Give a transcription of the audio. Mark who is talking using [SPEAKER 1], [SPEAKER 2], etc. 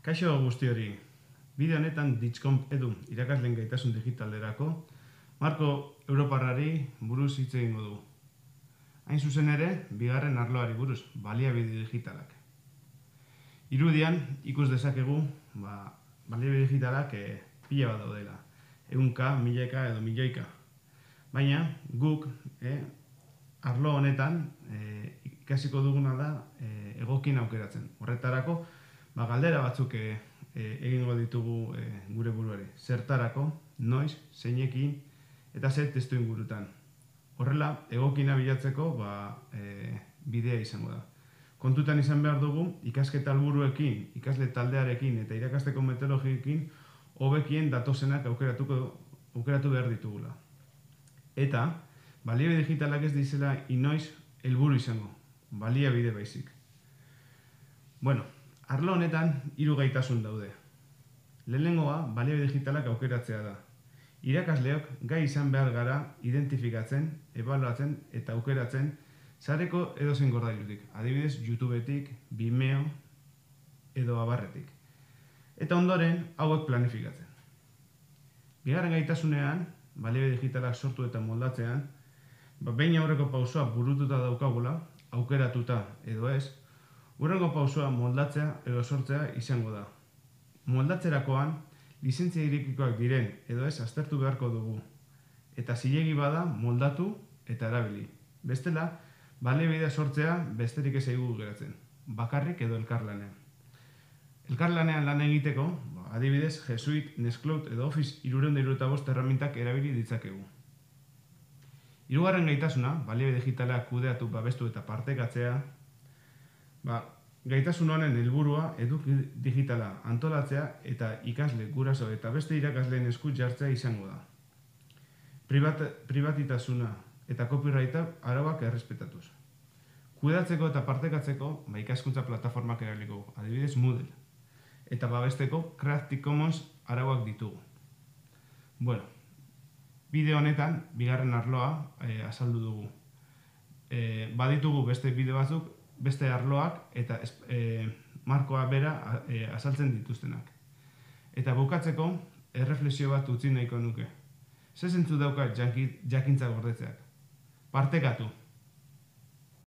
[SPEAKER 1] Kaixo guzti hori, bideo honetan Ditxcomp edu irakasleen gaitasun digitalerako marko europarrari buruz hitz egingo du. Hain zuzen ere, bigarren arloari buruz, baliabide digitalak. Irudian ikus dezakegu, baliabide digitalak pila bat daudela. Ehunka, milaka edo milioika. Baina guk arlo honetan ikasiko duguna da egokien aukeratzen. Horretarako, galdera batzuk egingo ditugu gure buruari. Zertarako, noiz, zeinekin eta zer testu ingurutan. Horrela, egokina bilatzeko bidea izango da. Kontutan izan behar dugu, ikasketa helburuekin, ikasle taldearekin eta irakasteko metodologiekin hobekien datozenak aukeratu behar ditugula. Eta, baliabide digitalak ez dizela inoiz helburu izango, baliabide baizik. Arlo honetan 3 gaitasun daude. Lehenengoa, baliabide digitalak aukeratzea da. Irakasleok gai izan behar gara identifikatzen, ebaluatzen eta aukeratzen sareko edozein gordailutik, adibidez YouTubetik, Vimeo edo abarretik. Eta ondoren hauek planifikatzen. Bigarren gaitasunean, baliabide digitalak sortu eta moldatzean, behin aurreko pausua burututa daukagula, aukeratuta edo ez, hurrengo pausua moldatzea edo sortzea izango da. Moldatzerakoan, lizentzia irekikoak diren edo ez aztertu beharko dugu. Eta zilegi bada moldatu eta erabili. Bestela, baliabidea sortzea besterik ez zaigu geratzen. Bakarrik edo elkarlanean. Elkarlanean lan egiteko, adibidez, G Suite, Nextcloud edo Office 365 erramintak erabili ditzakegu. Hirugarren gaitasuna, baliabide digitalak kudeatu, babestu eta partekatzea, gaitasun honen helburua eduki digitala antolatzea eta ikasle, guraso eta beste irakasleen esku jartzea izango da. Pribatitasuna eta copyrighta arauak errespetatuz. Kudeatzeko eta partekatzeko ikaskuntza plataformak erabiliko, adibidez Moodle. Eta babesteko Creative Commons arauak ditugu. Bideo honetan, bigarren arloa azaldu dugu. Baditugu beste bideo batzuk, beste arloak eta markoa bera azaltzen dituztenak. Eta bukatzeko, erreflexio bat utzi nahiko nuke. Ze zentzu dauka jakintza gordetzeak? Partekatu!